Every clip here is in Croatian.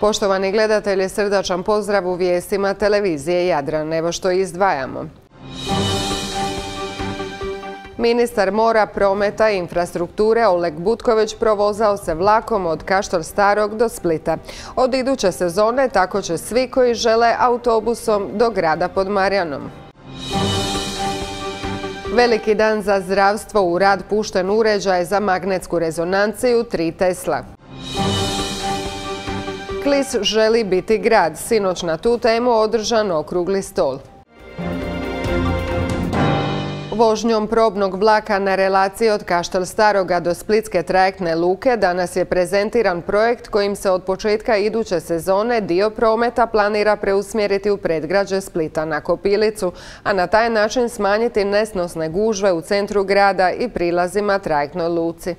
Poštovani gledatelji, srdačan pozdrav u vijestima televizije Jadran. Evo što izdvajamo. Ministar mora, prometa i infrastrukture Oleg Butković provozao se vlakom od Kaštel Starog do Splita. Od iduće sezone tako će svi koji žele autobusom do grada pod Marjanom. Veliki dan za zdravstvo, u rad pušten uređaj za magnetsku rezonanciju 3 Tesla. Klis želi biti grad. Sinoć na tu temu održan okrugli stol. Vožnjom probnog vlaka na relaciji od Kaštel Staroga do Splitske trajektne luke danas je prezentiran projekt kojim se od početka iduće sezone dio prometa planira preusmjeriti u predgrađe Splita na Kopilicu, a na taj način smanjiti nesnosne gužve u centru grada i prilazima trajektnoj luci.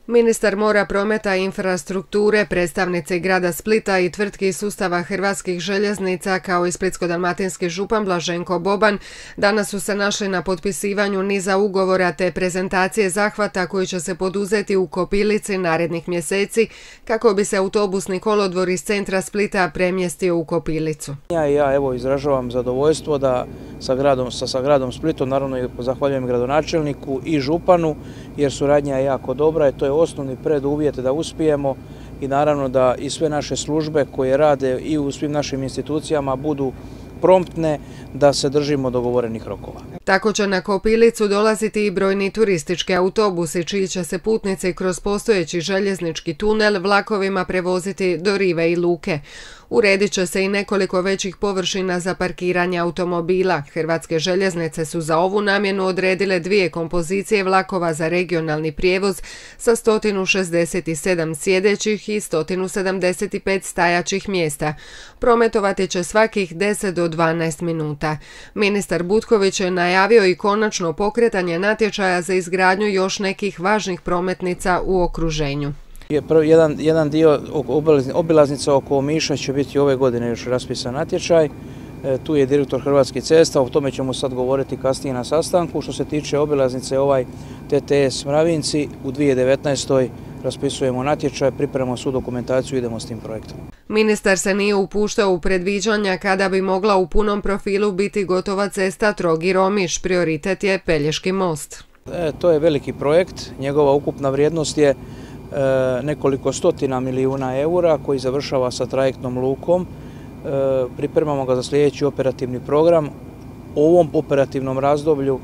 Ministar mora, prometa i infrastrukture, predstavnici grada Splita i tvrtki iz sustava Hrvatskih željeznica kao i splitsko-dalmatinski župan Blaženko Boban danas su se našli na potpisivanju niza ugovora te prezentacije zahvata koji će se poduzeti u Kopilici narednih mjeseci kako bi se autobusni kolodvor iz centra Splita premjestio u Kopilicu. Ja evo izražavam zadovoljstvo da sa gradom Splitom, naravno i zahvaljujem gradonačelniku i županu jer suradnja je jako dobra i to je osnovni preduvjet da uspijemo i naravno da i sve naše službe koje rade i u svim našim institucijama budu promptne da se držimo dogovorenih rokova. Tako će na Kopilicu dolaziti i brojni turistički autobusi čiji će se putnici kroz postojeći željeznički tunel vlakovima prevoziti do rive i luke. Uredit će se i nekoliko većih površina za parkiranje automobila. Hrvatske željeznice su za ovu namjenu odredile 2 kompozicije vlakova za regionalni prijevoz sa 167 sjedećih i 175 stajaćih mjesta. Prometovati će svakih 10 do 12 minuta. Ministar Butković je najavio i konačno pokretanje natječaja za izgradnju još nekih važnih prometnica u okruženju. Jedan dio obilaznica oko Omiša će biti ove godine još raspisan natječaj. Tu je direktor Hrvatskih cesta, o tome ćemo sad govoriti kasnije na sastanku. Što se tiče obilaznice TTS Mravinci, u 2019. raspisujemo natječaj, pripremamo svu dokumentaciju i idemo s tim projektom. Ministar se nije upuštao u predviđanja kada bi mogla u punom profilu biti gotova cesta Trogir-Omiš. Prioritet je Pelješki most. To je veliki projekt, njegova ukupna vrijednost je nekoliko stotina milijuna eura koji završava sa trajektnom lukom. Pripremamo ga za sljedeći operativni program. Ovom operativnom razdoblju,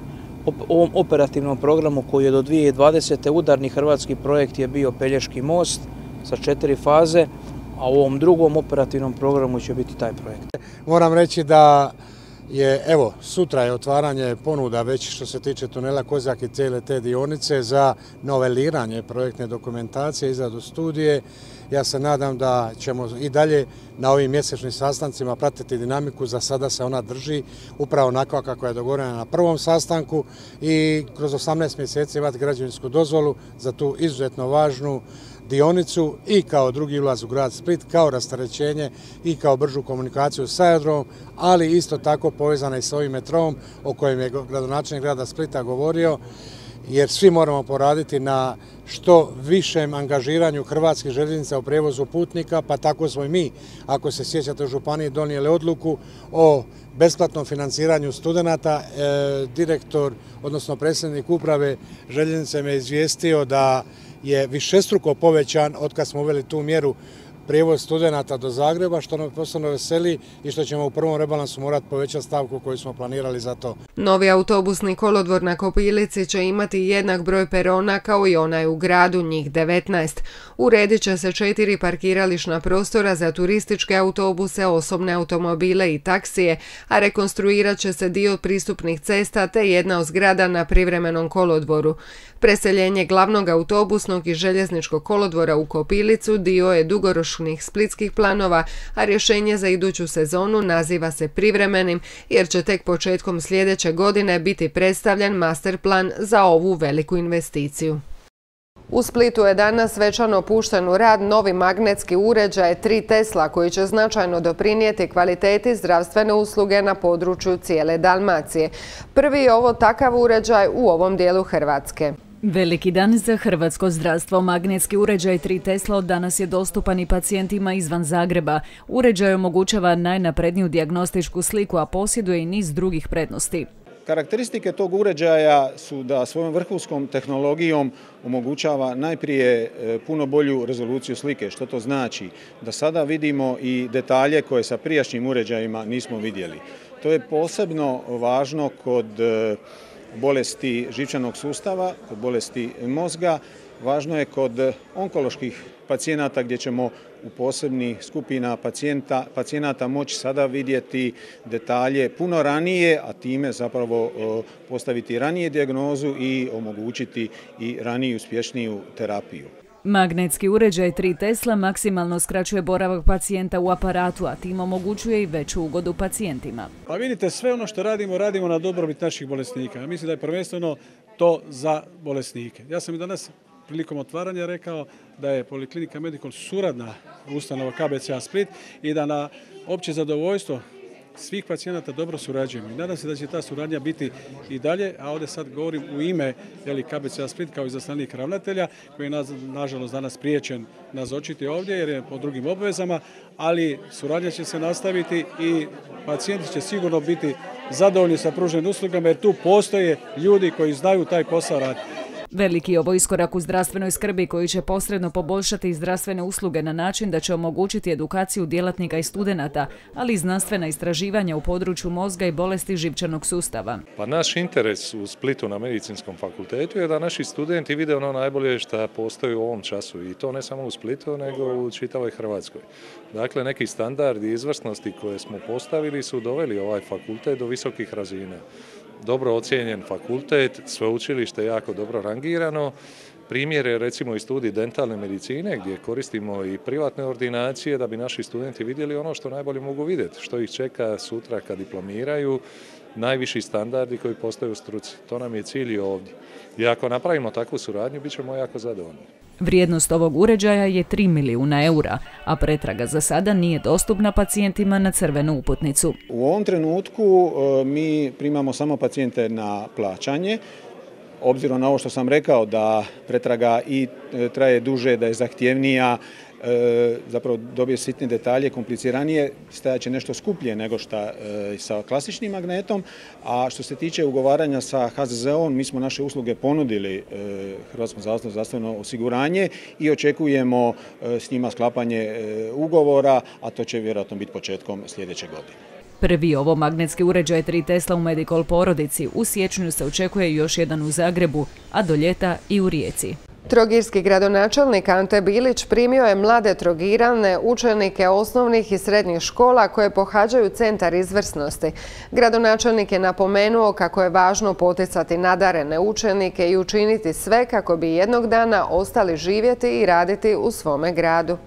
ovom operativnom programu koji je do 2020. udarni hrvatski projekt je bio Pelješki most sa 4 faze, a u ovom drugom operativnom programu će biti taj projekt. Moram reći da sutra je otvaranje ponuda već što se tiče tunela Kozjak i cijele te dionice za noveliranje projektne dokumentacije, izradu studije. Ja se nadam da ćemo i dalje na ovim mjesečnim sastancima pratiti dinamiku, za sada se ona drži upravo onako kako je dogovorena na prvom sastanku i kroz 18 mjeseci imati građevinsku dozvolu za tu izuzetno važnu dionicu i kao drugi ulaz u grad Split, kao rasterećenje i kao bržu komunikaciju sa aerodromom, ali isto tako povezana i s ovim metrom o kojem je gradonačelnik grada Splita govorio, jer svi moramo poraditi na što višem angažiranju Hrvatskih željeznica u prijevozu putnika, pa tako smo i mi, ako se sjećate, u županiji donijeli odluku o besplatnom financiranju studenata. Direktor, odnosno predsjednik uprave željeznice me izvijestio da je višestruko povećan od kad smo uveli tu mjeru prijevoz studenata do Zagreba, što nam posebno veseli i što ćemo u prvom rebalansu morati povećati stavku koju smo planirali za to. Novi autobusni kolodvor na Kopilici će imati jednak broj perona kao i onaj u gradu, njih 19. Uredit će se 4 parkirališna prostora za turističke autobuse, osobne automobile i taksije, a rekonstruirat će se dio pristupnih cesta te jedna od zgrada na privremenom kolodvoru. Preseljenje glavnog autobusnog i željezničkog kolodvora u Kopilicu dio je dugoročnih splitskih planova, a rješenje za iduću sezonu naziva se privremenim jer će tek početkom sljedeće godine biti predstavljen master plan za ovu veliku investiciju. U Splitu je danas svečano pušten u rad novi magnetski uređaj 3 Tesla koji će značajno doprinijeti kvaliteti zdravstvene usluge na području cijele Dalmacije. Prvi je ovo takav uređaj u ovom dijelu Hrvatske. Veliki dan za hrvatsko zdravstvo. Magnetski uređaj 3 Tesla od danas je dostupan i pacijentima izvan Zagreba. Uređaj omogućava najnapredniju dijagnostičku sliku, a posjeduje i niz drugih prednosti. Karakteristike tog uređaja su da svojom vrhunskom tehnologijom omogućava najprije puno bolju rezoluciju slike. Što to znači? Da sada vidimo i detalje koje sa prijašnjim uređajima nismo vidjeli. To je posebno važno kod bolesti živčanog sustava, kod bolesti mozga. Važno je kod onkoloških pacijenata gdje ćemo u posebnih skupina pacijenata moći sada vidjeti detalje puno ranije, a time zapravo postaviti ranije dijagnozu i omogućiti i raniju uspješniju terapiju. Magnetski uređaj 3 Tesla maksimalno skraćuje boravak pacijenta u aparatu, a tim omogućuje i veću ugodu pacijentima. Pa vidite, sve ono što radimo na dobrobit naših bolesnika. Ja mislim da je prvenstveno to za bolesnike. Ja sam i danas prilikom otvaranja rekao da je Poliklinika Medikol suradna ustanova KBC-a Split i da na opće zadovoljstvo svih pacijenata dobro surađujemo. I nadam se da će ta suradnja biti i dalje, a ovdje sad govorim u ime KBC-a Split kao izaslanik ravnatelja koji je nažalost danas spriječen nazočiti ovdje jer je po drugim obvezama, ali suradnja će se nastaviti i pacijenti će sigurno biti zadovoljni sa pruženim uslugama jer tu postoje ljudi koji znaju taj posao raditi. Veliki je ovo iskorak u zdravstvenoj skrbi koji će posredno poboljšati zdravstvene usluge na način da će omogućiti edukaciju djelatnika i studenata, ali i znanstvena istraživanja u području mozga i bolesti živčanog sustava. Pa naš interes u Splitu na Medicinskom fakultetu je da naši studenti vide ono najbolje što postoji u ovom času i to ne samo u Splitu nego u čitavoj Hrvatskoj. Dakle, neki standardi izvrsnosti koje smo postavili su doveli ovaj fakultet do visokih razina. Dobro ocijenjen fakultet, sveučilište jako dobro rangirano. Primjer je recimo i studij dentalne medicine gdje koristimo i privatne ordinacije da bi naši studenti vidjeli ono što najbolje mogu vidjeti, što ih čeka sutra kad diplomiraju, najviši standardi koji postoje u struci. To nam je cilj i ovdje. I ako napravimo takvu suradnju, bit ćemo jako zadovoljni. Vrijednost ovog uređaja je 3 milijuna eura, a pretraga za sada nije dostupna pacijentima na crvenu uputnicu. U ovom trenutku mi primamo samo pacijente na plaćanje. Obzirom na ovo što sam rekao da pretraga i traje duže, da je zahtjevnija, zapravo dobije sitne detalje, kompliciranije, stajat će nešto skuplje nego što sa klasičnim magnetom, a što se tiče ugovaranja sa HZZO-om, mi smo naše usluge ponudili Hrvatskom zavodu za zdravstveno osiguranje i očekujemo s njima sklapanje ugovora, a to će vjerojatno biti početkom sljedeće godine. Prvi ovo magnetski uređaj 3 Tesla u Medikol porodici. U siječnju se očekuje još jedan u Zagrebu, a do ljeta i u Rijeci. Trogirski gradonačelnik Ante Bilić primio je mlade trogirane učenike osnovnih i srednjih škola koje pohađaju centar izvrsnosti. Gradonačelnik je napomenuo kako je važno poticati nadarene učenike i učiniti sve kako bi jednog dana ostali živjeti i raditi u svome gradu.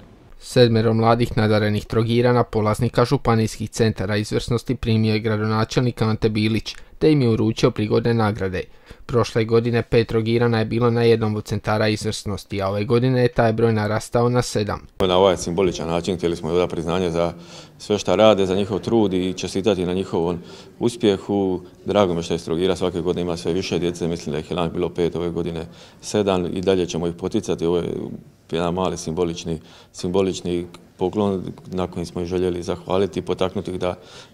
7 mladih nadarenih Trogirana, polaznika županijskih centara izvrsnosti, primio je gradonačelnik Ante Bilić, te im je uručio prigodne nagrade. Prošle godine 5 Trogirana je bilo na jednom od centara izvrsnosti, a ove godine je taj broj narastao na 7. Na ovaj simboličan način htjeli smo dati priznanje za sve što rade, za njihov trud i čestitati na njihovom uspjehu. Drago mi što je Trogira svake godine ima sve više djece, mislim da ih je lani bilo 5, ove godine 7 i dalje ćemo ih poticati. Ovo je jedan mali simbolični poklon na koji smo ih željeli zahvaliti i potaknuti ih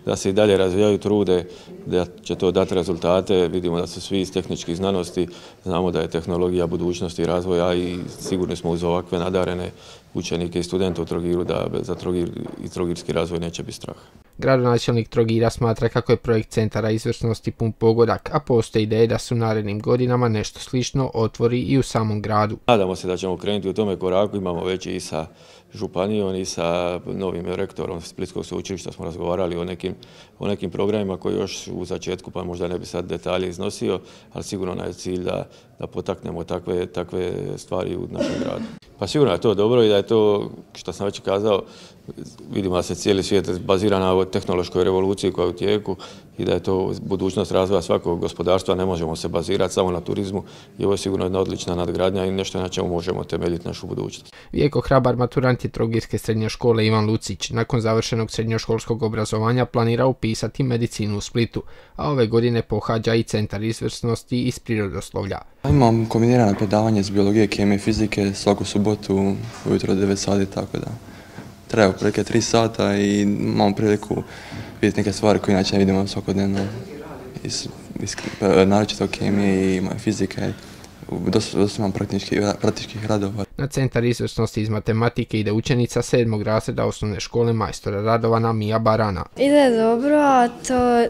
da se i dalje razvijaju, trude, da će to dati rezultate. Vidimo da su svi iz tehničkih znanosti, znamo da je tehnologija budućnosti i razvoja i sigurni smo uz ovakve nadarene učenike i studente u Trogiru da za Trogir i trogirski razvoj neće biti strah. Gradonačelnik Trogira smatra kako je projekt centara izvrsnosti pun pogodak, a postoji ideje da su u narednim godinama nešto slično otvori i u samom gradu. Nadamo se da ćemo krenuti u tome koraku, imamo već i sa županijom i sa novim rektorom Splitskog sveučilišta smo razgovarali o nekim programima koji još u začetku, pa možda ne bi sad detalje iznosio, ali sigurno nam je cilj da potaknemo takve stvari u našem gradu. Pa sigurno je to dobro i da je to, što sam već kazao, vidimo da se cijeli svijet bazira na ovoj tehnološkoj revoluciji koja je u tijeku i da je to budućnost razvoja svakog gospodarstva. Ne možemo se bazirati samo na turizmu i ovo je sigurno jedna odlična nadgradnja i nešto na čemu možemo temeljiti našu budućnost. Vjeko hrabar maturant je Trogirske srednje škole Ivan Lucić. Nakon završenog srednjoškolskog obrazovanja planira upisati medicinu u Splitu, a ove godine pohađa i centar izvrsnosti iz prirodoslovlja. Imam kombinirano predavanje iz biologije, kemije i fizike svaku subotu ujutro 9 sati, tako da treba otprilike 3 sata i imam priliku vidjeti neke stvari koje inače ne vidimo svakodnevno naročito kemije i fizike. Dosta imam praktičkih radova. Na centar izvrsnosti iz matematike ide učenica 7. razreda osnovne škole majstora Radovana Mija Barana. Ide dobro, a to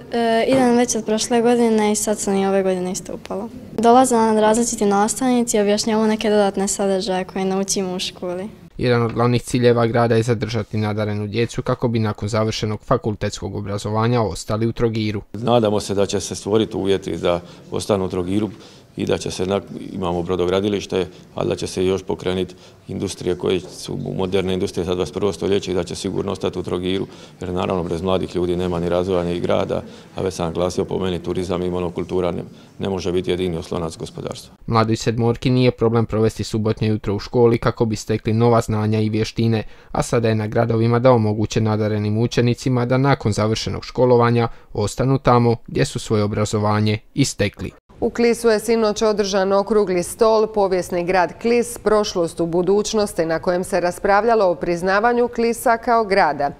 idem već od prošle godine i sad sam i ove godine isto upala. Dolaze nam različiti nastavnici i objašnjavamo neke dodatne sadržaje koje naučimo u školi. Jedan od glavnih ciljeva grada je zadržati nadarenu djecu kako bi nakon završenog fakultetskog obrazovanja ostali u Trogiru. Nadamo se da će se stvoriti uvjeti da ostanu u Trogiru i da će se, imamo brodogradilište, ali da će se još pokrenuti industrije koje su moderne industrije za 21. stoljeće i da će sigurno ostati u Trogiru, jer naravno bez mladih ljudi nema ni razvoja ni grada, a već sam naglasio po meni turizam i monokultura ne može biti jedini oslonac gospodarstva. Mladoj sedmorki nije problem provesti subotnje jutro u školi kako bi stekli nova znanja i vještine, a sada je na gradovima da omoguće nadarenim učenicima da nakon završenog školovanja ostanu tamo gdje su svoje obrazovanje i stekli. U Klisu je sinoć održan okrugli stol Povijesni grad Klis, prošlost u budućnosti, na kojem se raspravljalo o priznavanju Klisa kao grada.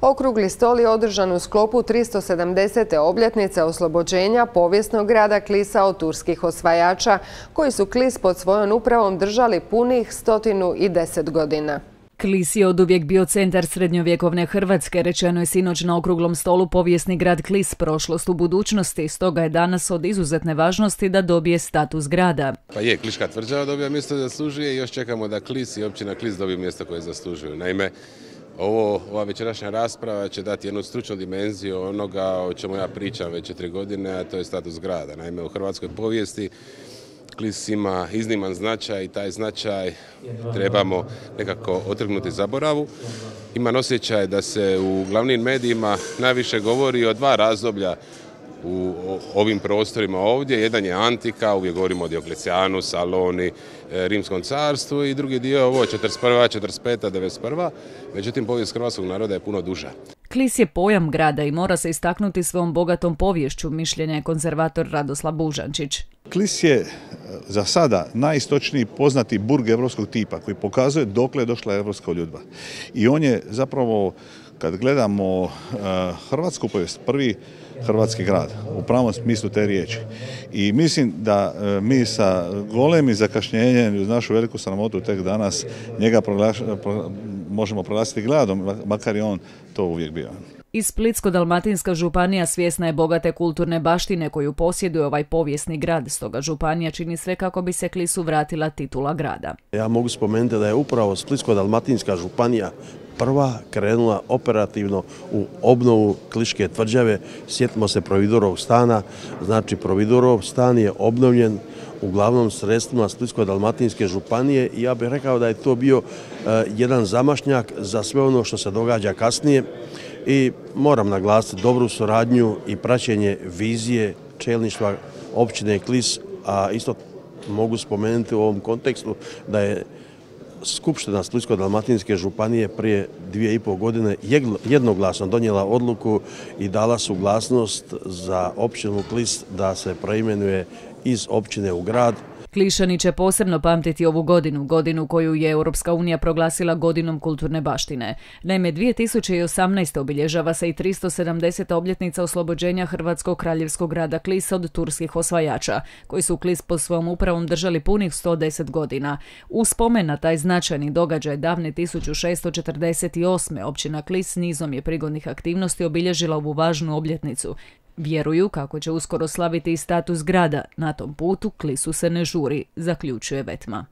Okrugli stol je održan u sklopu 370. obljetnice oslobođenja povijesnog grada Klisa od turskih osvajača, koji su Klis pod svojom upravom držali punih 110 godina. Klis je oduvijek bio centar srednjovjekovne Hrvatske, rečeno je sinoć na okruglom stolu Povijesni grad Klis, prošlost u budućnosti, stoga je danas od izuzetne važnosti da dobije status grada. Pa je, Kliška tvrđava dobija mjesto zaslužuje i još čekamo da Klis i općina Klis dobije mjesto koje zaslužuju. Naime, ova večerašnja rasprava će dati jednu stručnu dimenziju onoga o čemu ja pričam već 4 godine, a to je status grada. Naime, u hrvatskoj povijesti Klis ima izniman značaj i taj značaj trebamo nekako otrgnuti zaboravu. Imam osjećaj da se u glavnim medijima najviše govori o 2 razdoblja u ovim prostorima ovdje. Jedan je antika, uvijek govorimo o Dioklecijanu, Saloni, Rimskom carstvu i drugi dio ovo 41., 45., 91. Međutim, povijest hrvatskog naroda je puno duža. Klis je pojam grada i mora se istaknuti svojom bogatom poviješću, mišljenja je konzervator Radoslav Bužančić. Klis je za sada najistočniji poznati burg evropskog tipa koji pokazuje dokle je došla evropska ljudba. I on je zapravo, kad gledamo hrvatsku povijest, prvi hrvatski grad u pravom smislu te riječi. I mislim da mi sa golemim zakašnjenjem uz našu veliku sramotu tek danas njega možemo proglasiti gradom, makar je on to uvijek bio. I Splitsko-dalmatinska županija svjesna je bogate kulturne baštine koju posjeduje ovaj povijesni grad, stoga županija čini sve kako bi se Klisu vratila titula grada. Ja mogu spomenuti da je upravo Splitsko-dalmatinska županija prva krenula operativno u obnovu Kliške tvrđave. Sjetimo se Providorovog stana, znači Providorov stan je obnovljen uglavnom sredstvima Splitsko-dalmatinske županije i ja bih rekao da je to bio jedan zamašnjak za sve ono što se događa kasnije. I moram naglasiti dobru suradnju i praćenje vizije čelništva općine Klis, a isto mogu spomenuti u ovom kontekstu da je Skupština Splitsko-dalmatinske županije prije 2,5 godine jednoglasno donijela odluku i dala suglasnost za općinu Klis da se preimenuje iz općine u grad. Klišani će posebno pamtiti ovu godinu koju je Europska unija proglasila godinom kulturne baštine. Naime, 2018. obilježava se i 370. obljetnica oslobođenja hrvatskog kraljevskog grada Klisa od turskih osvajača, koji su Klis pod svojom upravom držali punih 110 godina. U spomen na taj značajni događaj davne 1648. općina Klis nizom je prigodnih aktivnosti obilježila ovu važnu obljetnicu. Vjeruju kako će uskoro slaviti i status grada. Na tom putu Klisu se ne žuri, zaključuje Vetma.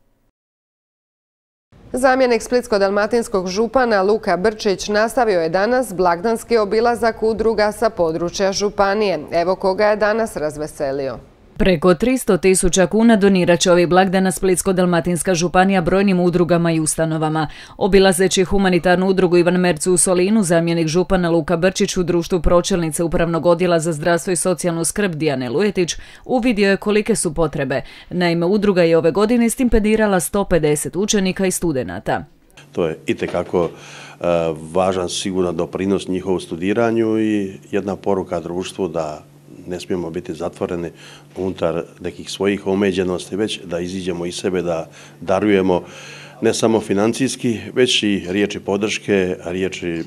Zamjenik splitsko-dalmatinskog župana Luka Brčić nastavio je danas blagdanski obilazak udruga sa područja županije. Evo koga je danas razveselio. Preko 300.000 kuna donirat će ovih blagdana Splitsko-dalmatinska županija brojnim udrugama i ustanovama. Obilazeći humanitarnu udrugu Ivan Mercu u Solinu, zamjenik župana Luka Brčić u društvu pročelnice Upravnog odjela za zdravstvo i socijalnu skrb Dijane Lujetić uvidio je kolike su potrebe. Naime, udruga je ove godine stipendirala 150 učenika i studenata. To je itekako važan sigurno doprinos njihovu studiranju i jedna poruka društvu da ne smijemo biti zatvoreni unutar nekih svojih omeđenosti, već da iziđemo iz sebe, da darujemo ne samo financijski, već i riječi podrške, riječi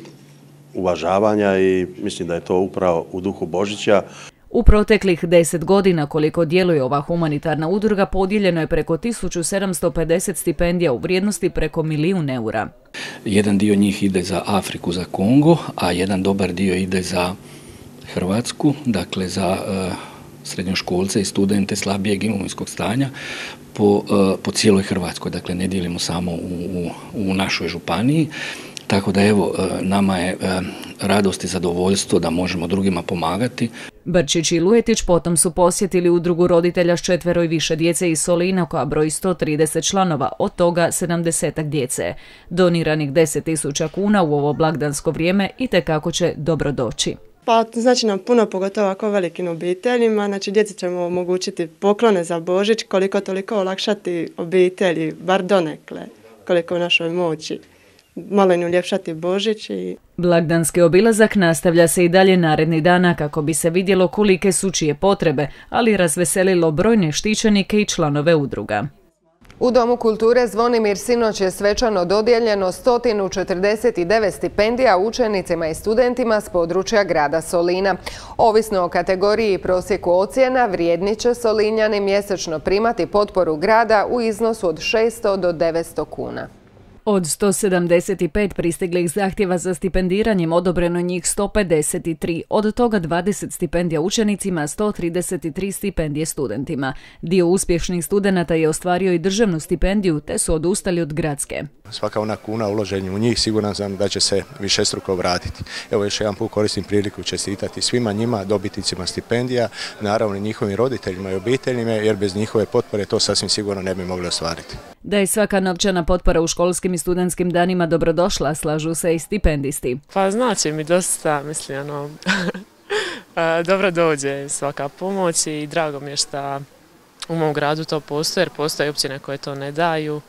uvažavanja i mislim da je to upravo u duhu Božića. U proteklih 10 godina koliko djeluje ova humanitarna udruga podijeljeno je preko 1750 stipendija u vrijednosti preko 1 milijun eura. Jedan dio njih ide za Afriku, za Kongo, a jedan dobar dio ide za Hrvatsku, dakle za srednjoškolce i studente slabijeg imovinskog stanja po cijeloj Hrvatskoj. Dakle, ne dijelimo samo u našoj županiji. Tako da evo, nama je radost i zadovoljstvo da možemo drugima pomagati. Brčić i Lujetić potom su posjetili udrugu roditelja s 4 i više djece iz Solina koja broji 130 članova, od toga 70 djece. Doniranih 10.000 kuna u ovo blagdansko vrijeme itekako će dobro doći. Pa znači nam puno, pogotovo ovako velikim obiteljima, znači djeci ćemo omogućiti poklone za Božić, koliko toliko olakšati obitelji, bar donekle, koliko u našoj moći. Malo im uljepšati Božić. Blagdanski obilazak nastavlja se i dalje narednih dana kako bi se vidjelo kolike su čije potrebe, ali razveselilo brojne štićenike i članove udruga. U Domu kulture Zvonimir sinoć je svečano dodijeljeno 149 stipendija učenicima i studentima s područja grada Solina. Ovisno o kategoriji i prosjeku ocjena, vrijedni će Solinjani mjesečno primati potporu grada u iznosu od 600 do 900 kuna. Od 175 pristiglih zahtjeva za stipendiranjem odobreno njih 153, od toga 20 stipendija učenicima, 133 stipendije studentima. Dio uspješnih studenata je ostvario i državnu stipendiju, te su odustali od gradske. Svaka ona kuna uloženja u njih siguran sam da će se višestruko vratiti. Evo još jedan put koristim priliku čestitati svima njima, dobitnicima stipendija, naravno i njihovim roditeljima i obiteljima, jer bez njihove potpore to sasvim sigurno ne bi mogli ostvariti. Da je svaka novčana potpora u školskim i studentskim danima dobrodošla, slažu se i stipendisti. Pa znači mi dosta, mislim, dobro dođe svaka pomoć i drago mi je što u mom gradu to postoji, jer postoje općine koje to ne daju.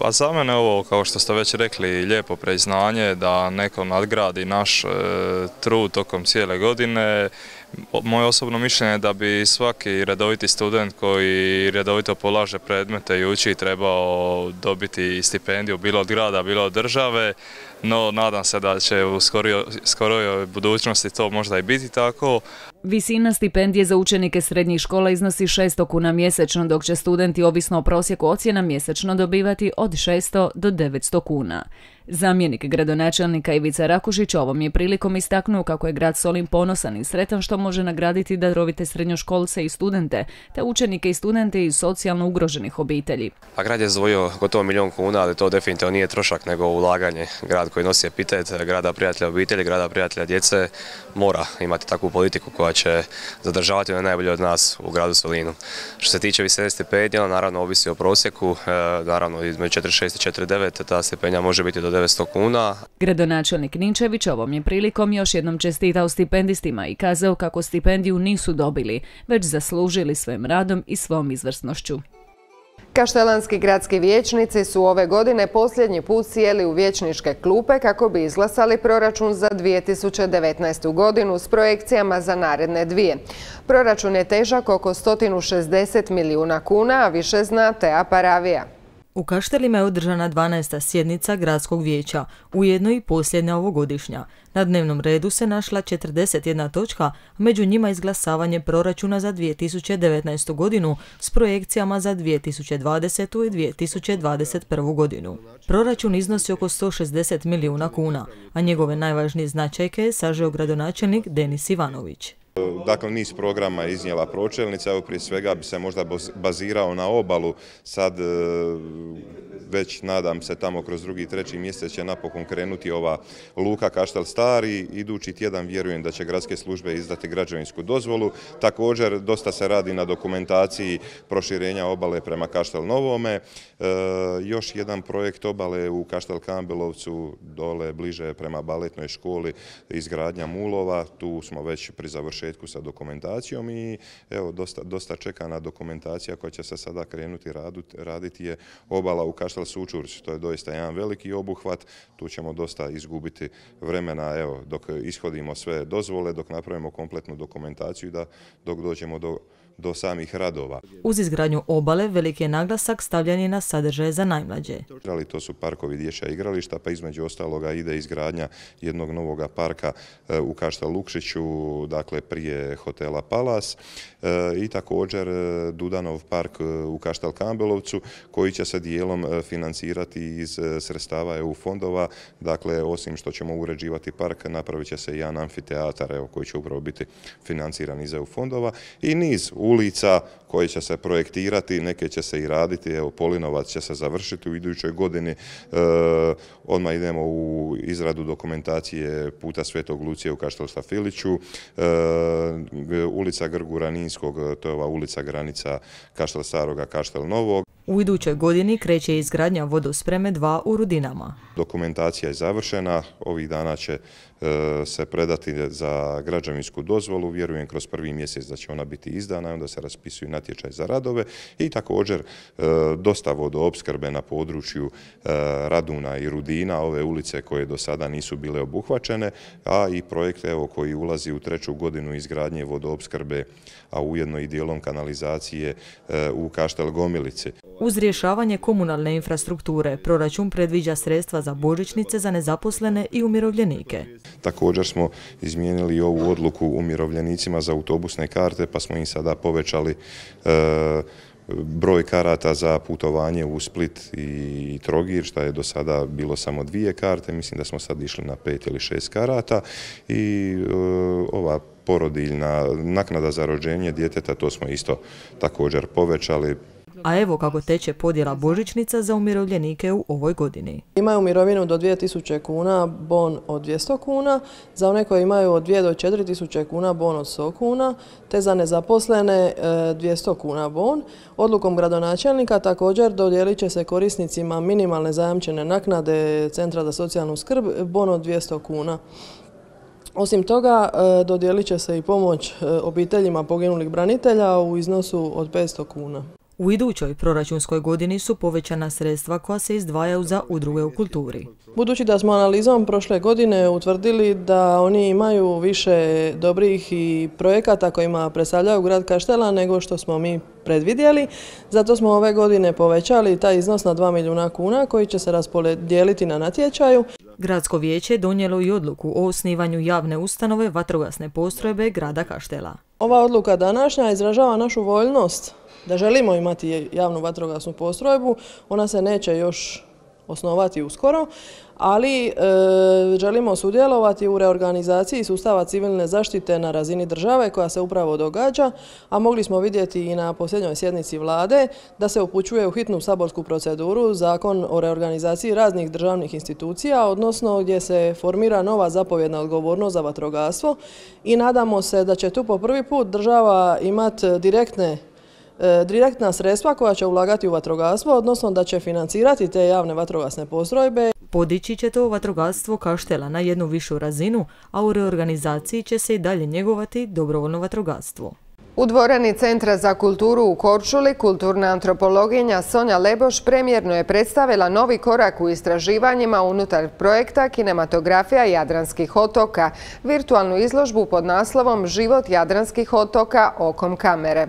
A za mene ovo, kao što ste već rekli, lijepo priznanje da neko nadgradi naš trud tokom cijele godine. Moje osobno mišljenje je da bi svaki redoviti student koji redovito polaže predmete i uči trebao dobiti stipendiju bilo od grada, bilo od države, no nadam se da će u skorijoj budućnosti to možda i biti tako. Visina stipendije za učenike srednjih škola iznosi 600 kuna mjesečno, dok će studenti ovisno o prosjeku ocjena mjesečno dobivati od 600 do 900 kuna. Zamjenik gradonačelnika Ivica Rakušić ovom je prilikom istaknuo kako je grad Solin ponosan i sretan što može nagraditi darovite srednjoškolce i studente, te učenike i studente iz socijalno ugroženih obitelji. A grad je izdvojio gotovo 1 milijun kuna, ali to definitivno nije trošak nego ulaganje. Grad koji nosi epitet grada prijatelja obitelji, grada prijatelja djece mora imati takvu politiku koja će zadržavati one najbolje od nas u gradu Solinu. Što se tiče visine stipendija, naravno ovisi o prosjeku, naravno između 4,6 i 4,9 ta stipendija može biti do 900 kuna. Gradonačelnik Ninčević ovom je prilikom još jednom čestitao stipendistima i kazao kako stipendiju nisu dobili, već zaslužili svojim radom i svom izvrsnošću. Kaštelanski gradski vijećnici su ove godine posljednji put sjeli u vijećničke klupe kako bi izglasali proračun za 2019. godinu s projekcijama za naredne dvije. Proračun je težak oko 160 milijuna kuna, a više zna Tea Paravija. U Kaštelima je održana 12. sjednica gradskog vijeća, ujedno i posljednja ovogodišnja. Na dnevnom redu se našla 41 točka, a među njima izglasavanje proračuna za 2019. godinu s projekcijama za 2020. i 2021. godinu. Proračun iznosi oko 160 milijuna kuna, a njegove najvažnije značajke je sažeo gradonačelnik Denis Ivanović. Dakle, niz programa je iznijela pročelnica, evo prije svega bi se možda bazirao na obalu, sad već nadam se tamo kroz 2. i 3. mjesec će napokon krenuti ova luka Kaštel Stari, idući tjedan vjerujem da će gradske službe izdati građevinsku dozvolu, također dosta se radi na dokumentaciji proširenja obale prema Kaštel Novome, još jedan projekt obale u Kaštel Kambelovcu, dole bliže prema baletnoj školi, izgradnja mulova, tu smo već pri završetku sa dokumentacijom i evo dosta čekana dokumentacija koja će se sada krenuti raditi je obala u Kaštel Sučurć, to je doista jedan veliki obuhvat, tu ćemo dosta izgubiti vremena evo, dok ishodimo sve dozvole, dok napravimo kompletnu dokumentaciju da dok dođemo do samih radova. Uz izgradnju obale veliki je naglasak stavljen je na sadržaje za najmlađe. To su parkovi dječja igrališta, pa između ostaloga ide izgradnja jednog novoga parka u Kaštel Lukšiću, dakle prije hotela Palas i također Dudanov park u Kaštel Kambelovcu koji će se dijelom financirati iz sredstava EU fondova, dakle osim što ćemo uređivati park, napravit će se i jedan amfiteatar koji će upravo biti financiran iz EU fondova i niz ulica koje će se projektirati, neke će se i raditi, evo Polinovac će se završiti u idućoj godini, odmah idemo u izradu dokumentacije puta Svetog Lucije u Kaštel Stafiliću, ulica Grgura Ninskog, to je ova ulica granica Kaštel Staroga, Kaštel Novog. U idućoj godini kreće izgradnja vodospreme 2 u Rudinama. Dokumentacija je završena, ovih dana će se predati za građevinsku dozvolu, vjerujem kroz 1. mjesec da će ona biti izdana i onda se raspisuju natječaj za radove i također dosta vodoopskrbe na području Raduna i Rudina, ove ulice koje do sada nisu bile obuhvaćene, a i projekt koji ulazi u 3. godinu izgradnje vodoopskrbe, a ujedno i dijelom kanalizacije u Kaštel Gomilici. Uz rješavanje komunalne infrastrukture, proračun predviđa sredstva za božićnice za nezaposlene i umirovljenike. Također smo izmijenili ovu odluku umirovljenicima za autobusne karte, pa smo im sada povećali broj karata za putovanje u Split i Trogir, što je do sada bilo samo 2 karte, mislim da smo sad išli na 5 ili 6 karata i ova porodiljna naknada za rođenje djeteta, to smo isto također povećali. A evo kako teče podjela božićnica za umirovljenike u ovoj godini. Imaju mirovinu do 2000 kuna, bon od 200 kuna, za one koji imaju od 2 do 4000 kuna, bon od 100 kuna, te za nezaposlene 200 kuna bon. Odlukom gradonačelnika također dodijelit će se korisnicima minimalne zajamčene naknade Centra za socijalnu skrb, bon od 200 kuna. Osim toga, dodijelit će se i pomoć obiteljima poginulih branitelja u iznosu od 500 kuna. U idućoj proračunskoj godini su povećana sredstva koja se izdvajaju za udruge u kulturi. Budući da smo analizom prošle godine utvrdili da oni imaju više dobrih i projekata kojima predstavljaju grad Kaštela nego što smo mi predvidjeli, zato smo ove godine povećali taj iznos na 2 milijuna kuna koji će se raspodijeliti na natječaju. Gradsko vijeće je donijelo i odluku o osnivanju javne ustanove vatrogasne postrojbe grada Kaštela. Ova odluka današnja izražava našu voljnost da želimo imati javnu vatrogasnu postrojbu. Ona se neće još osnovati uskoro, ali želimo sudjelovati u reorganizaciji sustava civilne zaštite na razini države koja se upravo događa, a mogli smo vidjeti i na posljednjoj sjednici vlade da se upućuje u hitnu saborsku proceduru Zakon o reorganizaciji raznih državnih institucija, odnosno gdje se formira nova zapovjedna odgovornost za vatrogastvo i nadamo se da će tu po prvi put država imati direktna sredstva koja će ulagati u vatrogastvo, odnosno da će financirati te javne vatrogasne postrojbe. Podići će to vatrogastvo Kaštela na jednu višu razinu, a u reorganizaciji će se i dalje njegovati dobrovoljno vatrogastvo. U dvorani Centra za kulturu u Korčuli kulturna antropologinja Sonja Leboš premijerno je predstavila novi korak u istraživanjima unutar projekta Kinematografija Jadranskih otoka, virtualnu izložbu pod naslovom Život Jadranskih otoka okom kamere.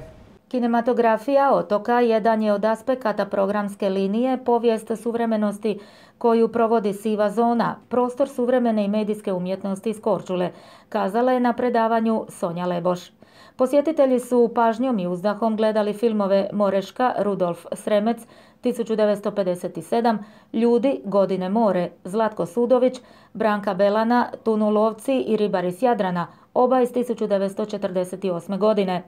Kinematografija otoka jedan je od aspekata programske linije Povijest suvremenosti koju provodi Siva zona, prostor suvremene i medijske umjetnosti iz Korčule, kazala je na predavanju Sonja Leboš. Posjetitelji su pažnjom i uzdahom gledali filmove Moreška, Rudolf Sremec, 1957, Ljudi, Godine more, Zlatko Sudović, Branka Belana, Tunulovci i Ribari s Jadrana, oba iz 1948. godine.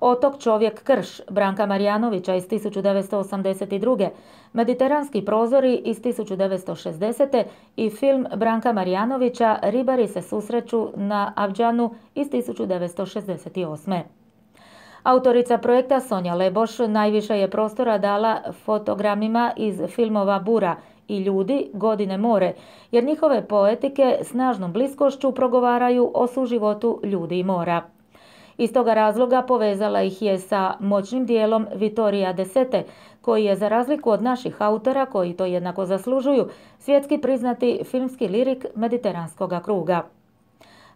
Otok Čovjek Krš Branka Marjanovića iz 1982. Mediteranski prozori iz 1960. i film Branka Marjanovića Ribari se susreću na Avđanu iz 1968. Autorica projekta Sonja Leboš najviše je prostora dala fotogramima iz filmova Bura i Ljudi, Godine more, jer njihove poetike snažnom bliskošću progovaraju o suživotu ljudi i mora. Iz toga razloga povezala ih je sa moćnim dijelom Vittoria De Sete, koji je, za razliku od naših autora, koji to jednako zaslužuju, svjetski priznati filmski lirik mediteranskog kruga.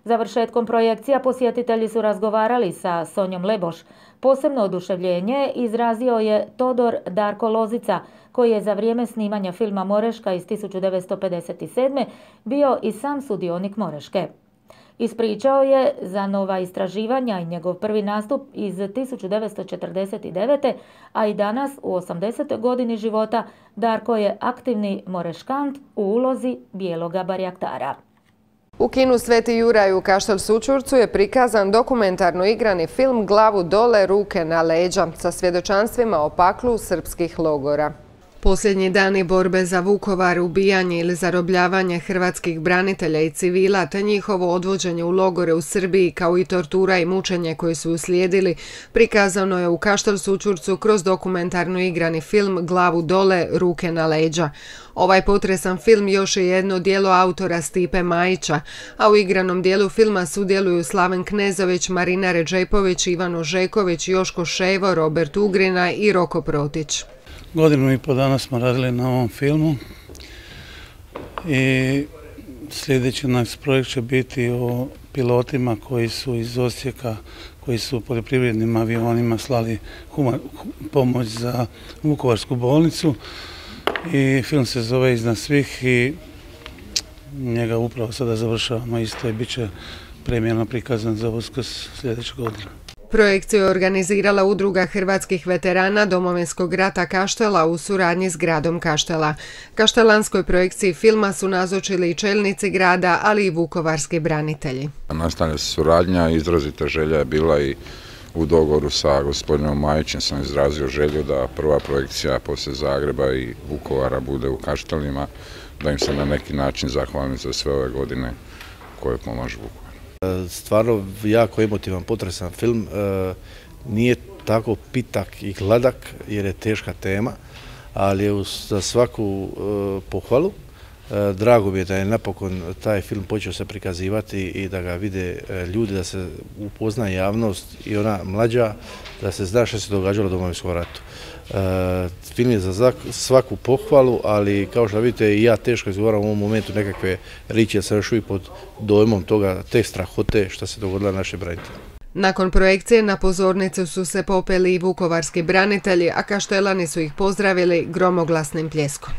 Završetkom projekcija posjetitelji su razgovarali sa Sonjom Leboš. Posebno oduševljenje izrazio je Todor Darko Lozica, koji je za vrijeme snimanja filma Moreška iz 1957. bio i sam sudionik Moreške. Ispričao je za nova istraživanja i njegov prvi nastup iz 1949. a i danas u 80. godini života Darko je aktivni moreškant u ulozi bijeloga barjaktara. U kinu Sveti Juraj u Kaštel Sućurcu je prikazan dokumentarno igrani film Glavu dole, ruke na leđa sa svjedočanstvima o paklu srpskih logora. Posljednji dani borbe za Vukovar, ubijanje ili zarobljavanje hrvatskih branitelja i civila te njihovo odvođenje u logore u Srbiji kao i tortura i mučenje koji su uslijedili prikazano je u Kaštel Sućurcu kroz dokumentarno igrani film Glavu dole, ruke na leđa. Ovaj potresan film još je jedno djelo autora Stipe Majića, a u igranom dijelu filma sudjeluju Slaven Knezović, Marina Redžepović, Ivano Žeković, Joško Ševo, Robert Ugrina i Roko Protić. Godinu i po dana smo radili na ovom filmu i sljedeći naš projekt će biti o pilotima koji su iz Osijeka, koji su poljoprivrednim avionima slali pomoć za Vukovarsku bolnicu i film se zove Iznad svih i njega upravo sada završavamo isto i bit će premijerno prikazan za Uskrs sljedeće godine. Projekciju je organizirala Udruga hrvatskih veterana Domovinskog rata Kaštela u suradnji s gradom Kaštela. Kaštelanskoj projekciji filma su nazočili i čelnici grada, ali i vukovarski branitelji. Nastavlja se suradnja, izrazita želja je bila i u dogovoru sa gospodinom Majićem sam izrazio želju da prva projekcija poslije Zagreba i Vukovara bude u Kaštelima, da im se na neki način zahvalim za sve ove godine koje pomažu Vukovaru. Stvarno jako emotivan, potresan film, nije tako pitak i gladak jer je teška tema, ali je za svaku pohvalu. Drago mi je da je napokon taj film počeo se prikazivati i da ga vide ljudi, da se upozna javnost i ona mlađa, da se zna što se događalo u Domovinskom ratu. Film je za svaku pohvalu, ali kao što vidite i ja teško izgovaram u ovom momentu nekakve riječi, jer sam još uvijek pod dojmom toga, te strahote što se dogodilo našim braniteljima. Nakon projekcije na pozornicu su se popeli i vukovarski branitelji, a Kaštelani su ih pozdravili gromoglasnim pljeskom.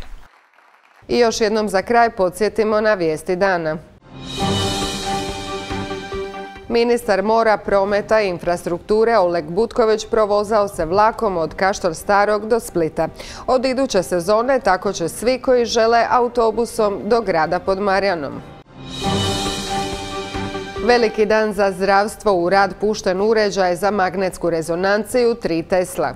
I još jednom za kraj podsjetimo na vijesti dana. Ministar mora, prometa i infrastrukture Oleg Butković provozao se vlakom od Kaštel Starog do Splita. Od iduće sezone tako će svi koji žele autobusom do grada pod Marjanom. Veliki dan za zdravstvo, u rad pušten uređaj za magnetsku rezonanciju 3 Tesla.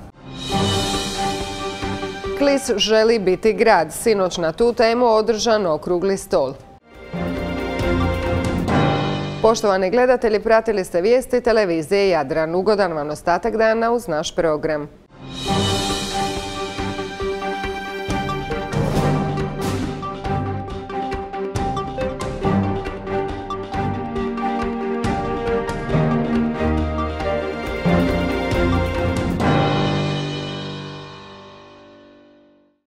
Klis želi biti grad. Sinoć na tu temu održan okrugli stol. Poštovani gledatelji, pratili ste vijesti televizije Jadran. Ugodan vam ostatak dana uz naš program.